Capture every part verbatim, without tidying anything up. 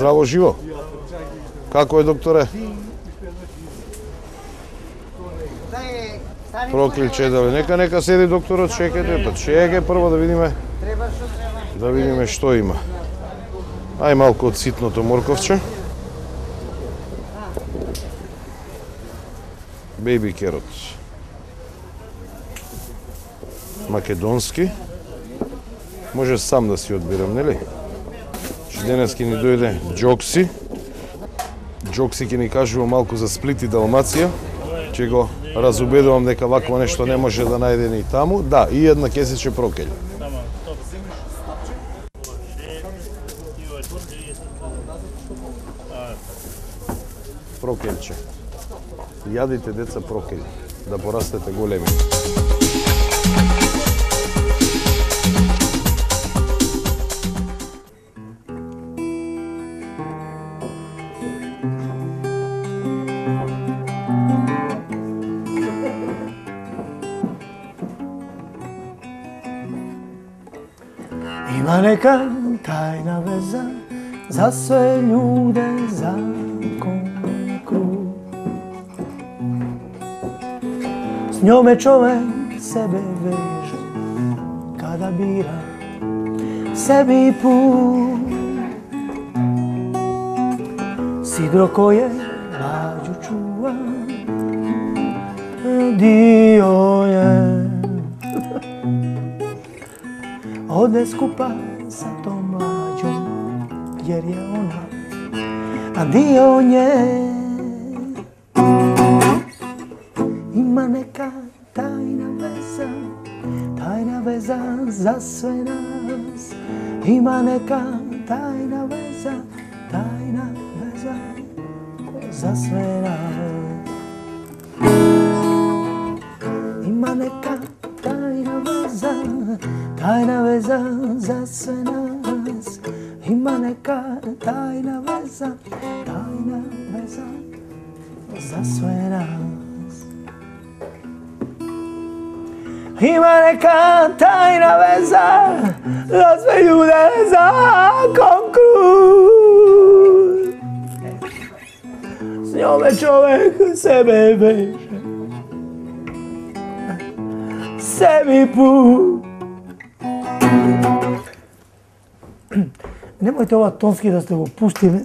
Здраво живо. Како е, докторе? Прокличе дали. Нека нека седи докторот, чекайте, па чекај прво да видиме. Да видиме што има. Ај малку од ситното морковче. Бејби керот. Македонски. Може сам да си одбирам, нели? Че денес ќе ни дојде Джокси. Джокси ќе ни кажува малку за Сплит и Далмација. Ќе го разубедувам дека вакво нешто не може да најде ни таму. Да, и една кесиче прокелј. Прокелче. Јадите, деца, прокелј, да порастете големи. Има нека тајна веза за све људе, закон круг. С њоме човек себе веже, када бира sebi put. Sidro koje lađu čuva, dio je. Ode skupa sa tom mlađom, jer je ona, a dio nje. Ima neka tajna veza, tajna veza za sve nas. Ima neka tajna veza, tajna veza za sve nas. Ima neka tajna veza, tajna veza za sve nas. Ima neka tajna veza, tajna veza za sve nas. Ima neka tajna veza za sve ljude, zakon krut. S njome čovek sebe veže, sebi put. Nemojte ova tonski da ste го pustili.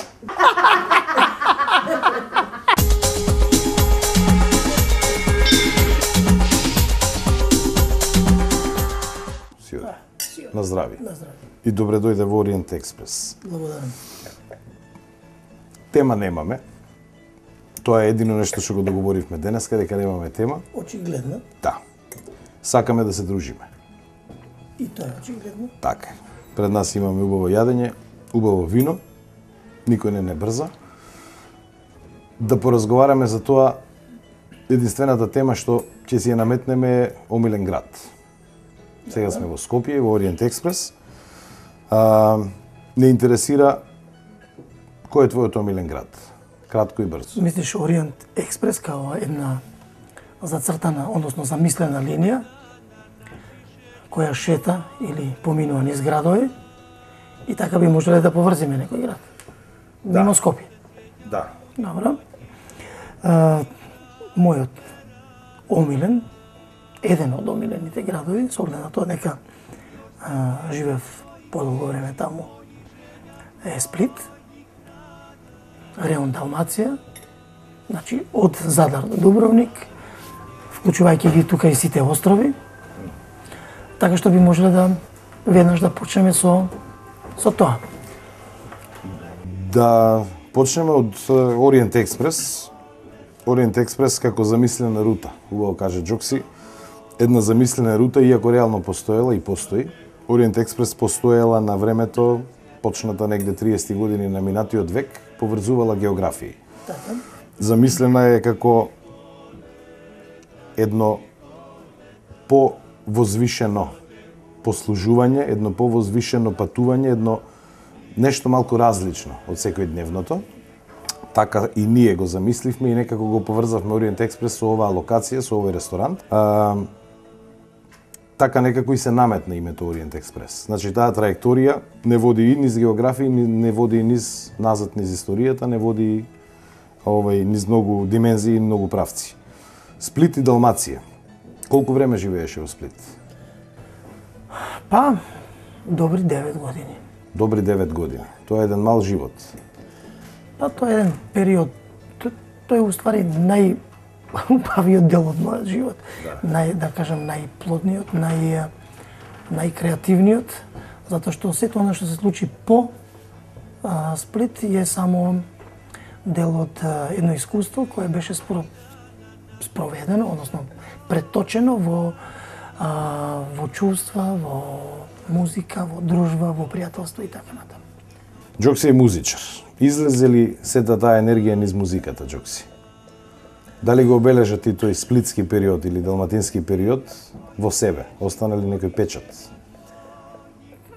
На здравие. На здравие. И добре дојде во Ориент Експрес. Благодарам. Тема немаме. Тоа е едино нешто што го договоривме денеска, дека немаме тема. Очигледно. Да. Сакаме да се дружиме. И тоа е очигледно. Така. Пред нас имаме убаво јадење, убаво вино, никој не не брза. Да поразговараме за тоа, единствената тема што ќе си ја наметнеме е омилен град. Сега сме во Скопје, во Ориент Експрес. А, не интересира кој е твојот омилен град? Кратко и брзо. Мислиш Ориент Експрес као една зацртана, односно замислена линија која шета или поминува низ градови и така би можеле да поврзиме некој град. Да. Мимо Скопје. Да. Добро. А, мојот омилен, еден од омилените градови, со оглед на тоа дека а, живеев подолго време таму, е Сплит, реон Далмација, значи од Задар до Дубровник, вклучувајќи ги тука и сите острови, така што би можеле да веднаш да почнеме со со тоа. Да почнеме од Ориент Експрес. Ориент Експрес како замислена рута, убаво каже Джокси. Една замислена рута, иако реално постоела и постои. Ориент Експрес постоела на времето, почната негде триесетти години на минатиот век, поврзувала географии. Така. Замислена е како едно повозвишено послужување, едно повозвишено патување, едно нешто малку различно од секојдневното. Така и ние го замисливме и некако го поврзавме Ориент Експрес со оваа локација, со овој ресторант. А, така некако и се наметна името Ориент Експрес. Значи таа траекторија не води и низ географија, не води и низ назад низ историјата, не води овај низ многу димензии и многу правци. Сплит и Далмација. Колку време живееше во Сплит? Па, добри девет години. Добри девет години. Тоа е еден мал живот. Па, тоа е еден период. Тој е уствари најубавиот дел од мојот живот. Да. Нај, да кажам, најплодниот, нај, најкреативниот, затоа што сето она што се случи по а, Сплит е само дел од а, едно искуство кое беше спро, спроведено, односно преточено во, а, во чувства, во музика, во дружба, во пријателство и така натаму. Џокси е музичар. Излезе ли сета таа енергија низ музиката, Џокси? Дали го обележа ти тој сплитски период или далматински период во себе? Остана ли некој печат?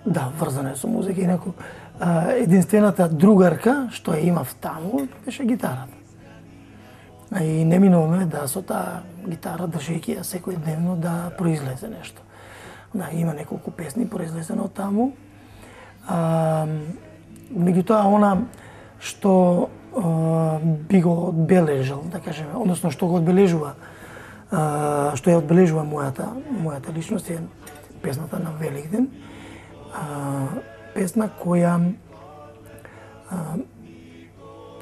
Да, врзано е со музика. Инаку, единствената другарка што ја имав таму беше гитарата. И неминовно е да со таа гитара, држејќи ја секојдневно, да произлезе нешто. Да, има неколку песни произлезено од таму. А, меѓутоа, она што а, би го одбележал, да кажеме, односно што го одбележува, а, што ја одбележува мојата, мојата личност е песната на Великден. А, песна која а,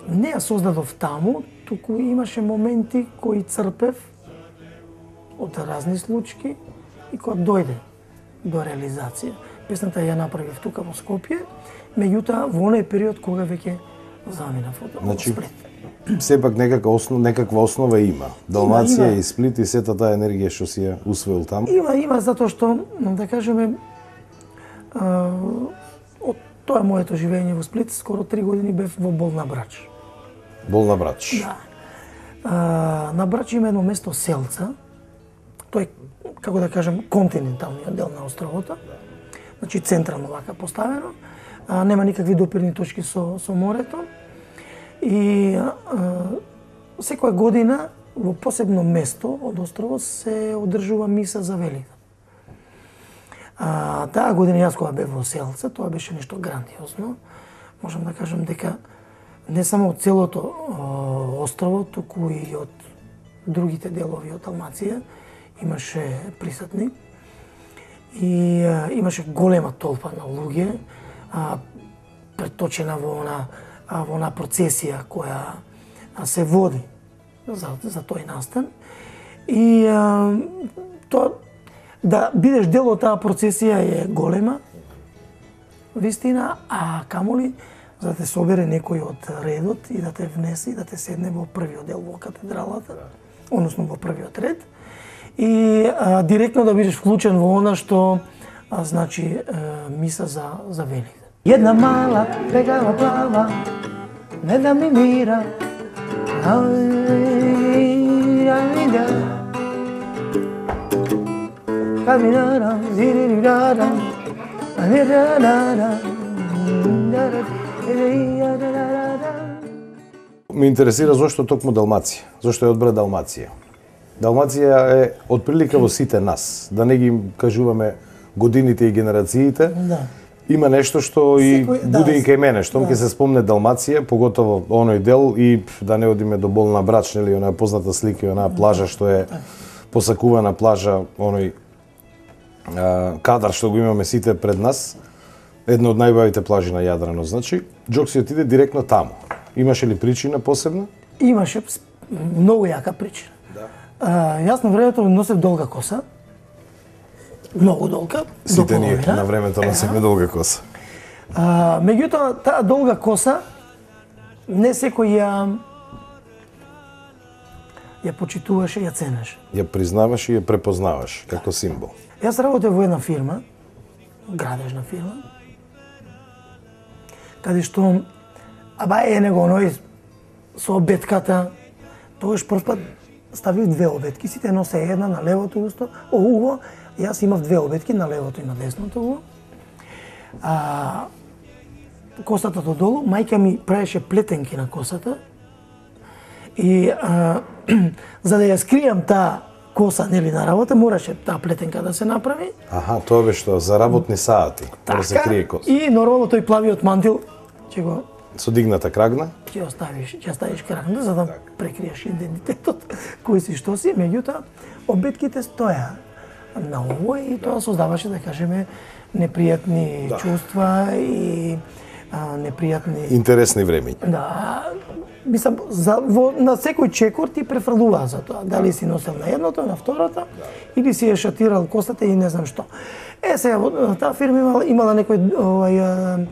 не ја создадов таму, туку имаше моменти кои црпев од разни случаи и кога дојде до реализација. Песната ја направив тука во Скопје, меѓутоа во оној период кога веќе заминав од значи, Сплит. Сепак некака основ, некаква основа има. Далмација и Сплит и сета таа енергија што си ја усвоил таму. Има, има, затоа што, да кажеме, а, од тоа моето живење во Сплит, скоро три години бев во Бол на Брач. Бол на Брач. Да. А, на Брач има едно место Селца, тој, како да кажем, континенталниот дел на островото, значи централно вака поставено, а, нема никакви допирни точки со, со морето и а, секоја година во посебно место од островот се одржува миса за Великден. А, таа година јас кога бев во Селца, тоа беше нешто грандиозно. Можам да кажам дека не само од целото о, острово, туку и од другите делови од Далмација имаше присутни и а, имаше голема толпа на луѓе, а, преточена во она, а, во она процесија која а, се води за, за тој настан. И а, тоа, да бидеш дел од таа процесија е голема вистина, а камоли за да те собере некој од редот и да те внесе и да те седне во првиот дел во катедралата, односно во првиот ред, и а, директно да бидеш вклучен во она што а, значи а, миса за, за Великден. Една мала бегава плава, не да ми мира, каминара, зирирара, анирара, Ме интересира зошто токму Далмација, зошто е одбра Далмација. Далмација е отприлика во сите нас, да не ги кажуваме годините и генерациите. Да. Има нешто што и Секој, буде да, и кај мене, штом ќе да. се спомне Далмација, поготово оној дел и да не одиме до Бол на Брач, нели, онаа позната слика и онаа плажа што е посакувана плажа, оној а, кадар што го имаме сите пред нас, една од најубавите плажи на Јадрано, значи, Џокси отиде директно таму. Имаше ли причина посебна? Имаше многу јака причина. Да. А, јас на времето носев долга коса, многу долга, Сите до ние половина. на времето носевме долга коса. А, меѓутоа, таа долга коса, не секој ја ја почитуваше, ја ценеше. Ја признаваш и ја препознаваш како символ. Јас работев во една фирма, градежна фирма, каде што, аба е него оној со обетката, тогаш прв пат ставив две обетки, сите носе една на левото усто, о, уво, јас имав две обетки на левото и на десното уво. А, косата додолу, мајка ми правеше плетенки на косата и а, за да ја скријам таа коса нели на работа, мораше таа плетенка да се направи. Аха, тоа беше што за работни сати, да се крие коса. И нормално тој плавиот мантил ќе го со дигната крагна, ќе оставиш, ќе ставиш крагна за да так. Прекриеш идентитетот кој си што си, меѓутоа обидките стоја на ово и тоа создаваше, да кажеме, непријатни да. чувства и а, непријатни интересни времења. Да, мислам за во, на секој чекор ти префрлува за тоа, дали си носел на едното, на второто, да. или си е шатирал косата и не знам што. Е сега таа фирма имала, имала некој овај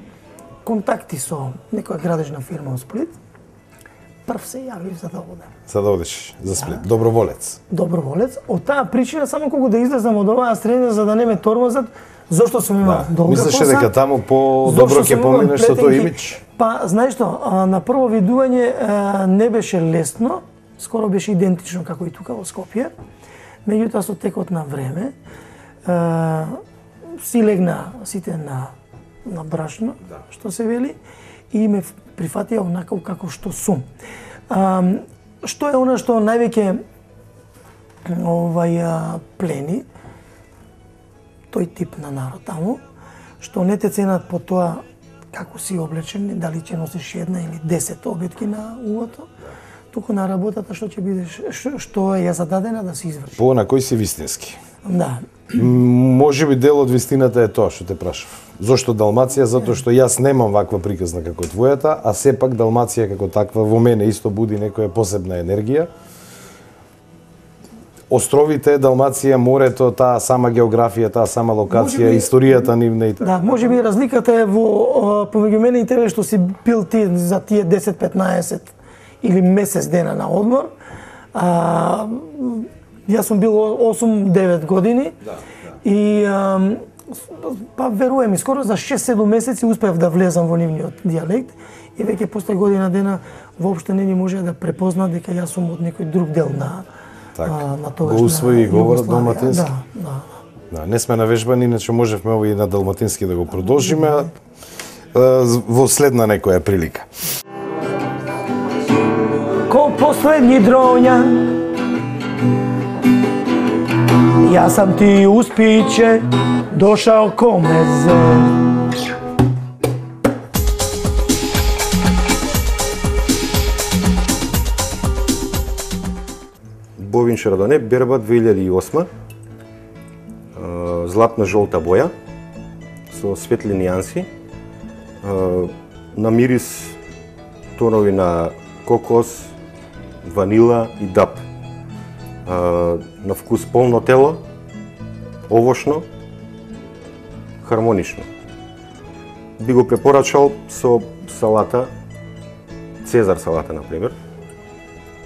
контакти со некоја градежна фирма во Сплит. Прв се јавив за да одам. За да одиш за Сплит, да. Доброволец. Доброволец. Од таа причина само кога да излезам од оваа средина за да не ме тормозат, зошто сум имал да. долга коса. Мислеше дека таму по добро ќе поминеш со тој имидж? Па, знаеш што, на прво видување не беше лесно, скоро беше идентично како и тука во Скопје. Меѓутоа со текот на време си легна сите на на брашно, да. што се вели, и ме прифатија онаков како што сум. А, што е она што највеќе овај плени тој тип на народ таму, што не те ценат по тоа како си облечен, дали ќе носиш една или десет обетки на уото, туку на работата што ќе бидеш, што е ја зададена да се изврши. По на кој си вистински? Да. Може би дел од вистината е тоа што те прашав. Зошто Далмација? Затоа што јас немам ваква приказна како твојата, а сепак Далмација како таква во мене исто буди некоја посебна енергија. Островите, Далмација, морето, таа сама географија, таа сама локација, би, историјата нивна и така. Да, може би разликата е во помеѓу мене и тебе што си бил ти за тие десет-петнаесет или месец дена на одмор. А, јас сум бил осум-девет години да, да. и а, па верувам и скоро за шест-седум месеци успев да влезам во нивниот дијалект и веќе после година дена воопшто не ни може да препозна дека јас сум од некој друг дел на так, а, на тогаш го усвои говорот далматински. Да, да. Да, не сме навежбани, иначе можевме овој на далматински да го продолжиме а, во следна некоја прилика. Ко последни дронја јас сам ти успиче дошао ко мезе. Бовин Шардоне, берба две илјади и осма, златна жолта боја со светли нијанси, на мирис тонови на кокос, ванила и даб. На вкус полно тело, овошно, хармонично. Би го препорачал со салата, Цезар салата, например,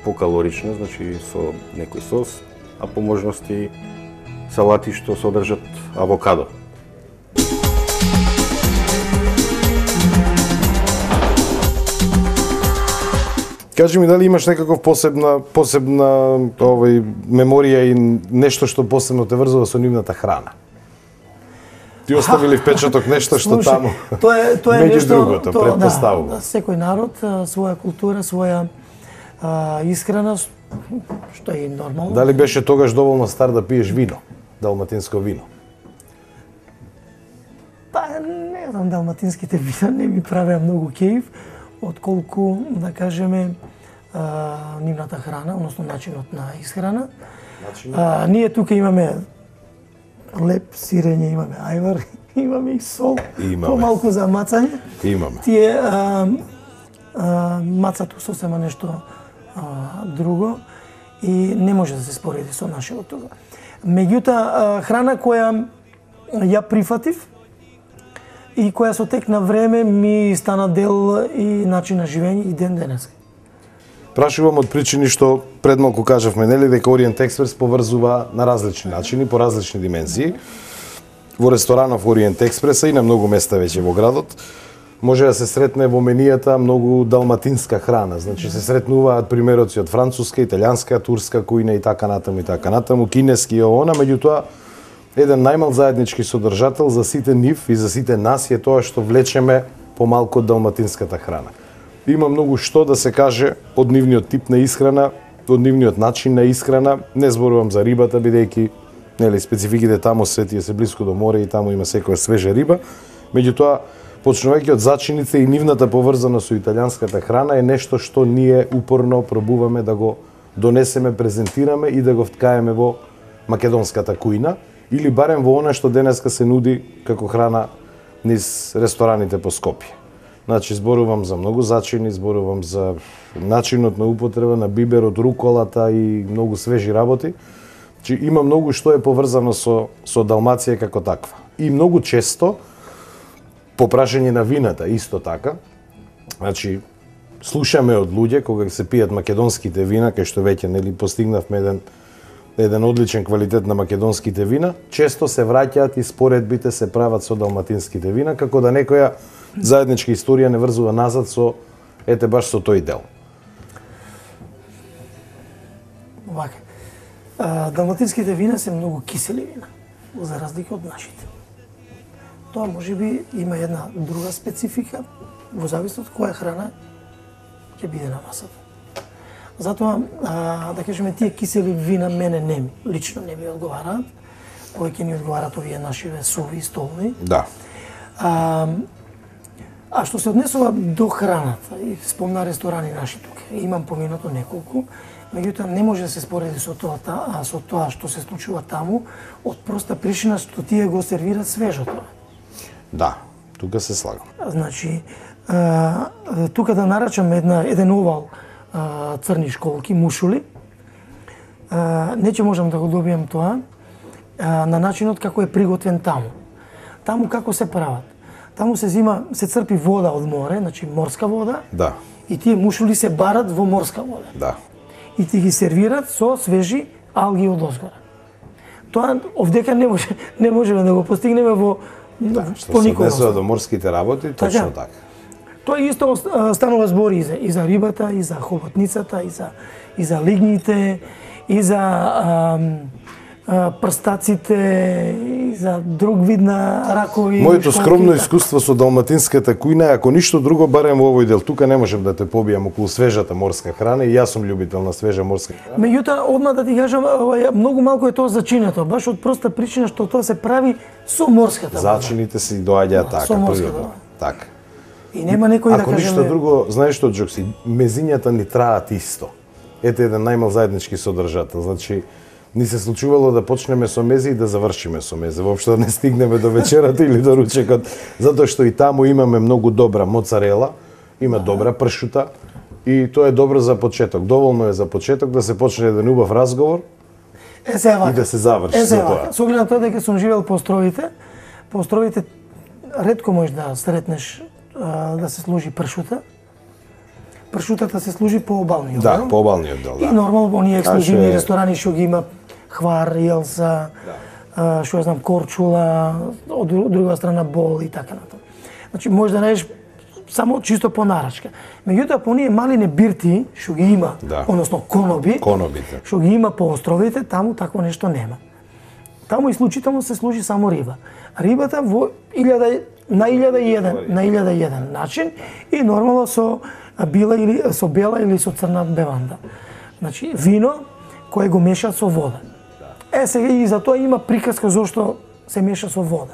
покалорично, значи со некој сос, а по можности салати што содржат авокадо. Кажи ми дали имаш некаков посебна посебна овој меморија и нешто што посебно те врзува со нивната храна? Ти оставили впечаток нешто што Слушай, таму? Тоа е тоа е меѓу нешто, другото, тоа, претпоставувам. Да, секој народ своја култура, своја а, исхрана, што е нормално. Дали беше тогаш доволно стар да пиеш вино, далматинско вино? Па не знам, далматинските вина не ми правеа многу кејф, отколку, да кажеме, а, нивната храна, односно начинот на исхрана. А, ние тука имаме леп, сирење, имаме ајвар, имаме и сол, имаме. Помалку за мацање. Имаме. Тие а, а, мацато сосема нешто а, друго и не може да се спореди со нашето тука. Меѓутоа, храна која ја прифатив и која со тек на време ми стана дел и начин на живење и ден денес. Прашувам од причини што пред малку кажавме, нели, дека Ориент Експрес поврзува на различни начини, по различни димензии. Во ресторанов Ориент Експреса и на многу места веќе во градот може да се сретне во менијата многу далматинска храна. Значи се сретнуваат примероци од француска, италијанска, турска кујна и така натаму и така натаму, кинески и она, меѓутоа еден најмал заеднички содржател за сите нив и за сите нас е тоа што влечеме помалку од далматинската храна. Има многу што да се каже од нивниот тип на исхрана од нивниот начин на исхрана. Не зборувам за рибата, бидејќи нели спецификите таму се тие се блиску до море и таму има секоја свежа риба. Меѓутоа, почнувајќи од зачините и нивната поврзаност со италијанската храна е нешто што ние упорно пробуваме да го донесеме, презентираме и да го вткаеме во македонската кујна или барем во она што денеска се нуди како храна низ рестораните по Скопје. Значи, зборувам за многу зачини, зборувам за начинот на употреба на биберот, руколата и многу свежи работи. Значи, има многу што е поврзано со, со Далмација како таква. И многу често, по прашање на вината, исто така, значи, слушаме од луѓе кога се пијат македонските вина, кај што веќе нели постигнавме еден еден одличен квалитет на македонските вина, често се враќаат и споредбите се прават со далматинските вина, како да некоја заедничка историја не врзува назад со ете баш со тој дел. Вака. А, далматинските вина се многу кисели вина, за разлика од нашите. Тоа можеби има една друга специфика во зависност од која храна ќе биде на масата. Затоа, а, да кажеме, тие кисели вина мене не ми, лично не ми одговараат, повеќе ни одговараат овие нашиве суви и столни. Да. А, а што се однесува до храната, и спомна ресторани наши тука, имам поминато неколку, меѓутоа не може да се спореди со тоа, а со тоа што се случува таму, од проста причина што тие го сервираат свежото. Да, тука се слагам. Значи, а, тука да нарачам една, еден овал а, црни школки, мушули, а, не ќе можам да го добијам тоа а, на начинот како е приготвен таму. Таму како се прават? Таму се зима, се црпи вода од море, значи морска вода, Да, и тие мушули се барат во морска вода. да. И ти ги сервират со свежи алги од озгора. Тоа овдека не може не можеме да го постигнеме во Да, што по се никој однесува остров. до морските работи, точно Така. така. Тоа исто а, станува збори и за, и за рибата, и за хоботницата, и за, и за лигните, и за а, а, прстаците, и за друг вид на ракови. Моето школки, скромно така. искуство со далматинската кујна, ако ништо друго, барем во овој дел, тука не можам да те побијам околу свежата морска храна и јас сум љубител на свежа морска храна. Меѓутоа, одма да ти кажам, ова, многу малку е тоа зачинето, баш од проста причина што тоа се прави со морската вода. Зачините си доаѓаат така, со морската природно. вода. Така. И нема некој да Ако кажеме... ништо друго, знаеш што, Джокси, мезињата ни траат исто. Ете еден најмал заеднички содржател. Значи, ни се случувало да почнеме со мези и да завршиме со мези. Воопшто да не стигнеме до вечерата или до ручекот, затоа што и таму имаме многу добра моцарела, има добра пршута и тоа е добро за почеток. Доволно е за почеток да се почне еден убав разговор Е, се вака. и да се заврши Е, се за вака. тоа. Со оглед на тоа дека сум живеел по островите, по островите ретко можеш да сретнеш а, да се служи пршута. Пршутата се служи по обалниот Да, дел. по обалниот дел, И да. нормално оние ексклузивни е- ресторани што ги има хвар, јелса, а, што ја знам, корчула, од дру- од друга страна бол и така натаму. Значи може да најдеш само чисто по нарачка. Меѓутоа по оние малине бирти што ги има, Да. односно коноби, Конобите. што ги има по островите, таму такво нешто нема. Таму исклучително се служи само риба. Рибата во илјада на илјада и еден, на илјада и еден начин и нормално со била или со бела или со црна беванда. Значи вино кое го меша со вода. Е сега и за тоа има приказка зошто се меша со вода.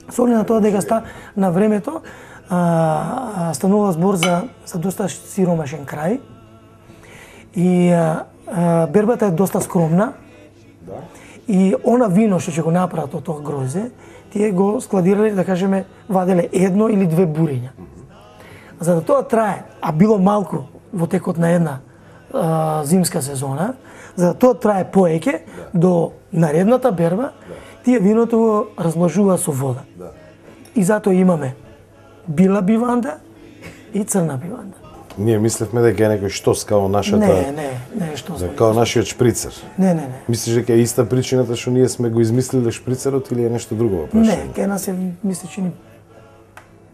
Со оглед на тоа дека ста на времето а, а, станува збор за за доста сиромашен крај и а, а, бербата е доста скромна. И она вино што ќе го направат од тоа грозе, тие го складирале, да кажеме, ваделе едно или две буриња. За да тоа трае, а било малку во текот на една а, зимска сезона, за да тоа трае поеќе до наредната берба, тие виното го разложува со вода. И затоа имаме била биванда и црна биванда. Ние мислевме дека е некој штос као нашата, Не, не, не, што сме. као нашиот шприцер. Не, не, не. Мислиш дека е иста причината што ние сме го измислиле шприцерот или е нешто друго во Не, прашање? кај нас е, мисле, чини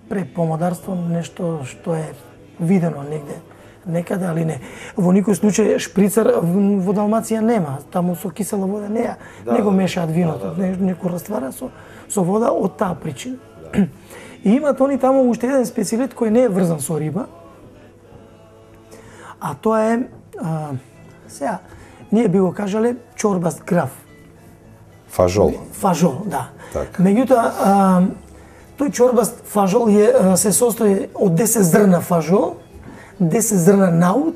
препомодарство, нешто што е видено негде, некаде, али не. Во никој случај шприцер во Далмација нема, таму со кисела вода не ја, не го мешаат виното, не, не го раствара со, со вода од таа причина. И имат они таму уште еден специјалитет кој не е врзан со риба, а тоа е а, сега, ние би го кажале чорбаст граф. Фажол. Фажол, да. Така. Меѓутоа, а, тој чорбаст фажол е, а, се состои од десет зрна фажол, десет зрна наут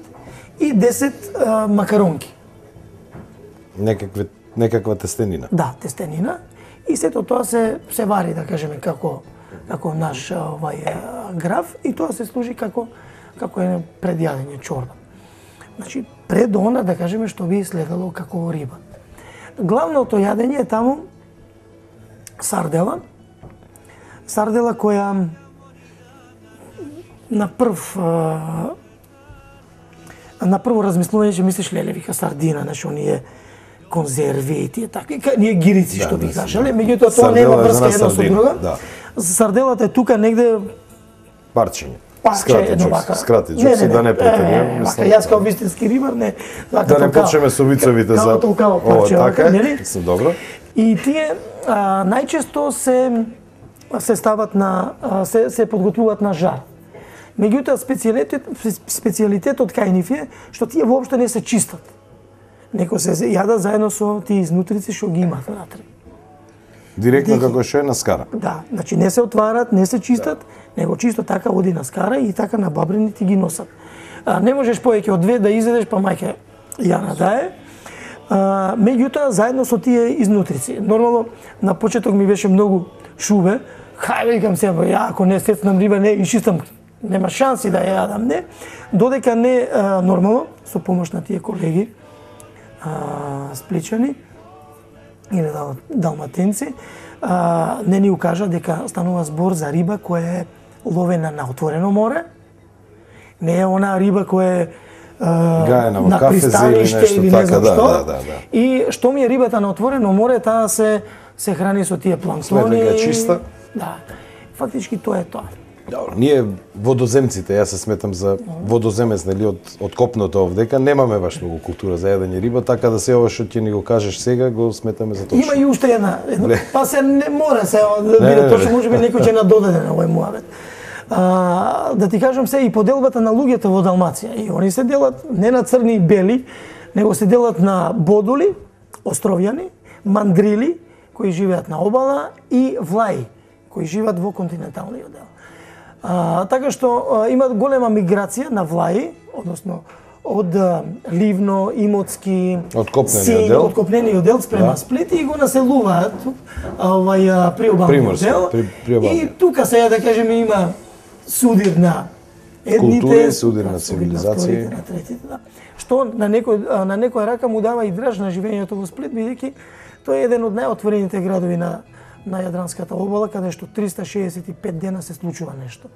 и десет а, макаронки. Некаква некаква тестенина. Да, тестенина. И сето тоа се се вари, да кажеме, како како наш овај граф и тоа се служи како како е предјадење чорба. Значи, пред она, да кажеме, што би следело како риба. Главното јадење е таму сардела. Сардела која на прв на прво размислување ќе мислиш леле, вика сардина, значи оние конзерви и тие такви, ние гирици да, што би да, кажале, да. меѓутоа тоа нема врска едно со друго. Да. Сарделата е тука негде парчење. Парче Скрати едно джукс, вака. скрати джукс, да не претенувам. Вака, јас као вистински рибар, не. Вака, Да не почнеме со вицовите за као толкаво парче, Ова, вака, така, нели? се добро. И тие а, најчесто се се стават на а, се се подготвуваат на жар. Меѓутоа специјалитет специјалитетот кај нив е што тие воопшто не се чистат. Неко се јада заедно со тие изнутрици што ги имат внатре. Директно Дихи. како што е на скара. Да, значи не се отварат, не се чистат, да. Него чисто така оди на скара и така на бабрени ти ги носат. А, не можеш повеќе од две да изедеш, па мајке ја надае. А, меѓутоа, заедно со тие изнутрици. Нормално, на почеток ми беше многу шубе. Хај, викам се, ја ако не сецнам риба, не изчистам, нема шанси да ја јадам, не. Додека не, а, нормално, со помош на тие колеги, а, спличани, или дал, далматинци, а, не ни укажа дека станува збор за риба која е ловена на отворено море, не е она риба која е Гајана во на кафезе или пристаниште нешто или не така, знам да, што. да, да, да. И што ми е рибата на отворено море, таа се се храни со тие планктони. Светлинка чиста. Да. Фактички тоа е тоа. Добро, ние водоземците, јас се сметам за водоземец, нели, од, од копното овдека, немаме баш многу култура за јадење риба, така да се ова што ќе ни го кажеш сега, го сметаме за точно. Има и уште една, една Не. па се не мора се да Не, не, биде не. точно, можеби некој ќе надодаде на овој муавет. А, да ти кажам се и поделбата на луѓето во Далмација. И они се делат не на црни и бели, него се делат на бодули, островјани, мандрили, кои живеат на обала, и влаи, кои живеат во континенталниот дел. А, така што а, има голема миграција на влаи, односно од а, Ливно, Имоцки, Од копнениот Синј, дел. од копнениот дел спрема Да. Сплит и го населуваат а, овај а, приобалниот Приморски, дел. при- приобалниот. И тука сега да кажеме има судир на едните, Култури, судир на да, цивилизации. вторите, на третите, да. Што на некој а, на некоја рака му дава и драж на живењето во Сплит, бидејќи тој е еден од најотворените градови на на Јадранската обала, каде што триста шеесет и пет дена се случува нешто.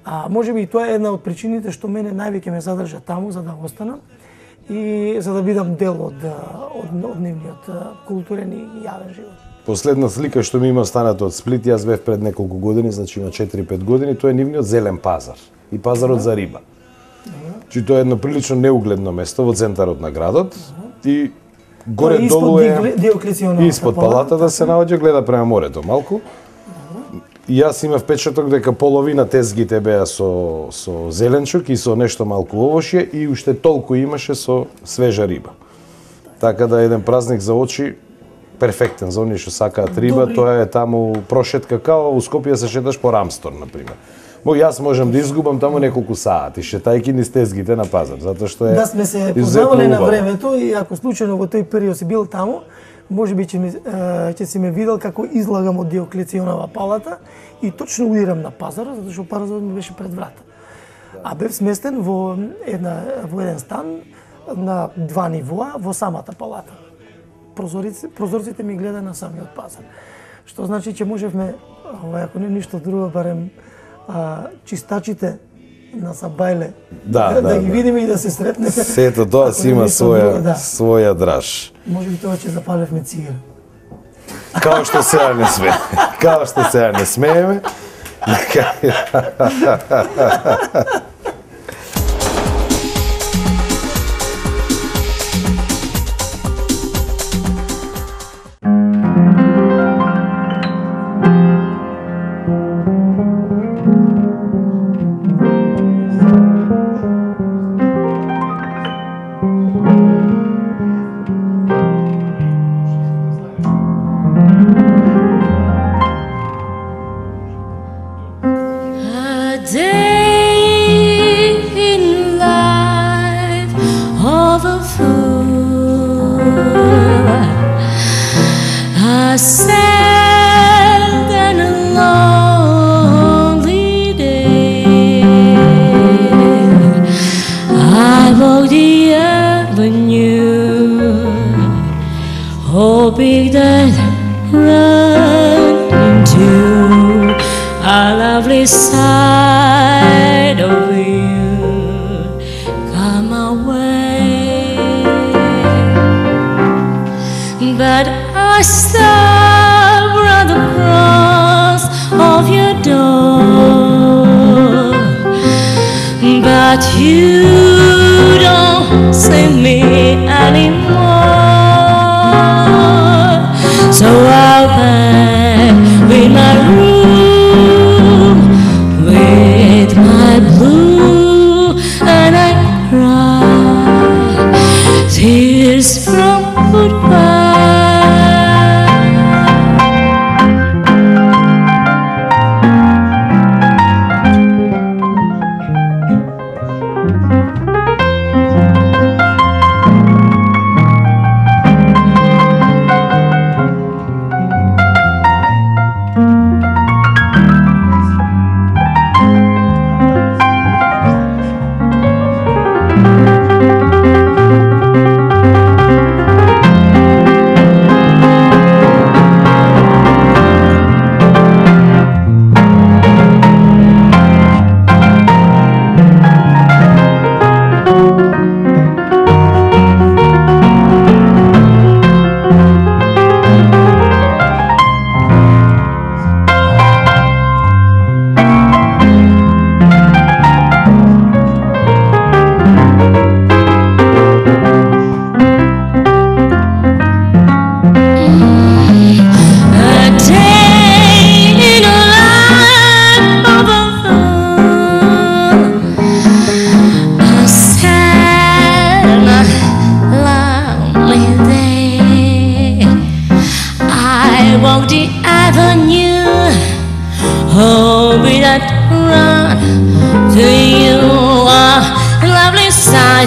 А можеби и тоа е една од причините што мене највеќе ме задржа таму за да останам и за да бидам дел од од, од нивниот а, културен и јавен живот. Последна слика што ми има станато од Сплит, јас бев пред неколку години, значи има четири-пет години, тоа е нивниот зелен пазар и пазарот за риба. Чи тоа е едно прилично неугледно место во центарот на градот и горе Тоа е испод долу е Диокле- Диоклеционовата испод палатата се наоѓа, гледа према морето малку. И јас имав впечаток дека половина тезгите беа со со зеленчук и со нешто малку овошје и уште толку имаше со свежа риба. Така да еден празник за очи перфектен за оние што сакаат риба, Добри. тоа е таму прошетка као у Скопје се шеташ по Рамстор на пример. Мо јас можам да изгубам таму неколку сати шетајки низ тезгите на пазар, затоа што е Да сме се изуzetно познавале на убаво. времето и ако случајно во тој период си бил таму, можеби ќе ми е, ќе си ме видел како излагам од Диоклеционова палата и точно удирам на пазарот, затоа што пазарот ми беше пред врата. А бев сместен во една во еден стан на два нивоа во самата палата. Прозориците, прозорците ми гледа на самиот пазар. Што значи че можевме, ова, ако не ништо друго, барем а, чистачите на Сабајле Да, да, да, ги да. видиме и да се сретнеме. Сето тоа Ако си не има ништо своја друго, да. своја драж. Може би тоа ќе запалевме цигара. Као што сега не сме. Као што сега не смееме. I walk the avenue, hoping that run into a lovely side of you come away, but I stop at the cross of your door, but you don't see me anymore. So I'll back with my room, with my blue, and I cry tears from goodbye.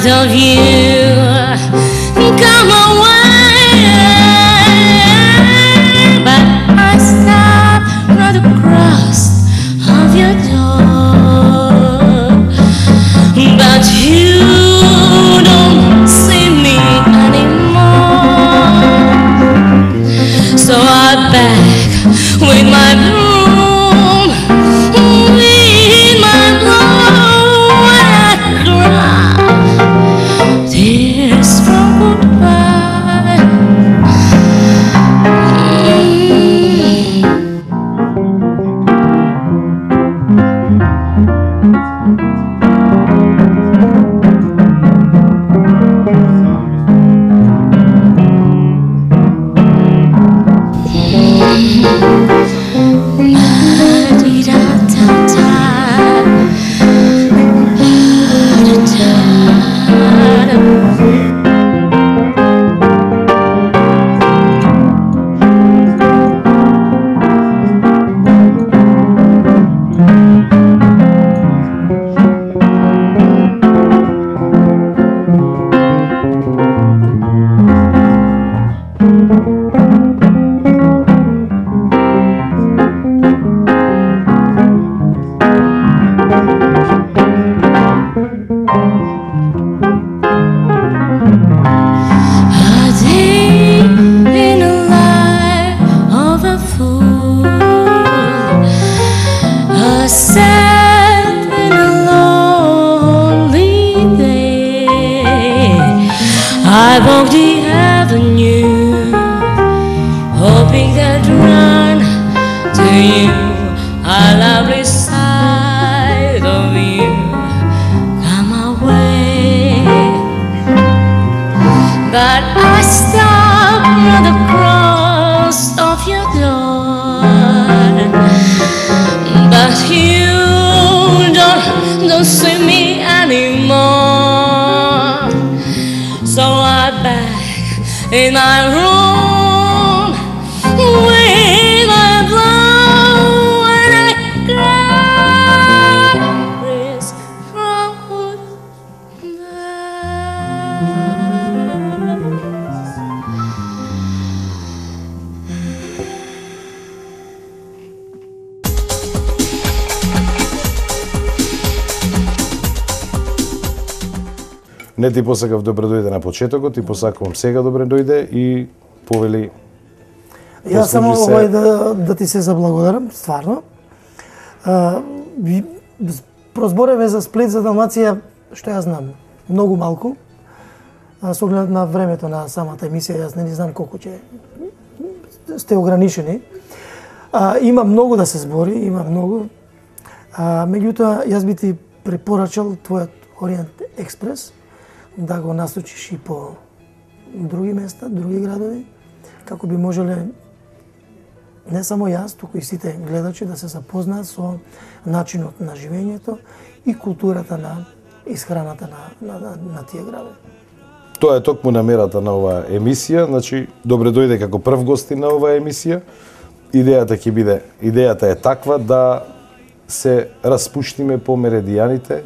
Of you come away, but I stop at the cross of your door, but you don't see me anymore. So I beg with my broom, with my blow, and I cry tears from goodbye. I walk the avenue, hoping that run to you, a lovely side of you come away. But I stop at the cross of your door, but you don't, don't see me anymore. So I back in my room with my blow, and I cry tears from Не ти посакав добре дојде на почетокот, ти посакувам сега добре дојде и повели. Јас само се... овој да, да ти се заблагодарам, стварно. А, прозбореве за Сплит, за Далмација, што ја знам, многу малку. А, со оглед на времето на самата емисија, јас не знам колку ќе сте ограничени. А, има многу да се збори, има многу. А, меѓутоа, јас би ти препорачал твојот Ориент Експрес да го насочиш и по други места, други градови, како би можеле не само јас, туку и сите гледачи да се запознаат со начинот на живењето и културата на исхраната на, на, на, на тие градови. Тоа е токму намерата на оваа емисија, значи добре дојде како прв гостин на оваа емисија. Идејата ќе биде, идејата е таква да се распуштиме по меридијаните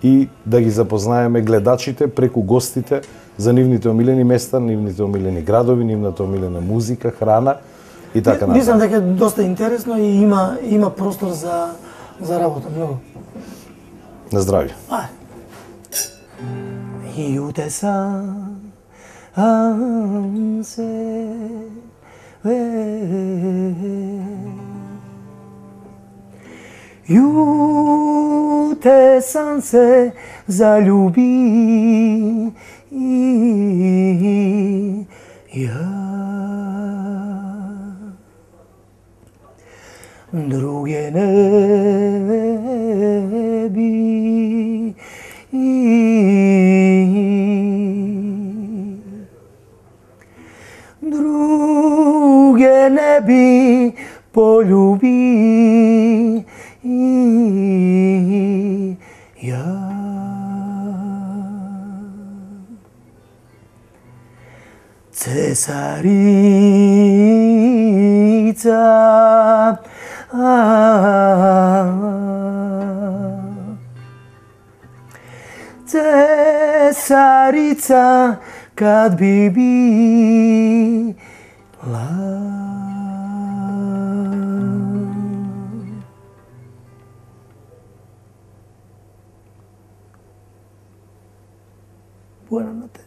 и да ги запознаеме гледачите преку гостите за нивните омилени места, нивните омилени градови, нивната омилена музика, храна и така натаму. Мислам дека е доста интересно и има има простор за за работа многу. На здравје. Ај. Iute sanse Iute sanse zaljubi ja druge ne bi druge ne bi poljubi ja. Cesarica Cesarica kad bi bila buena notte.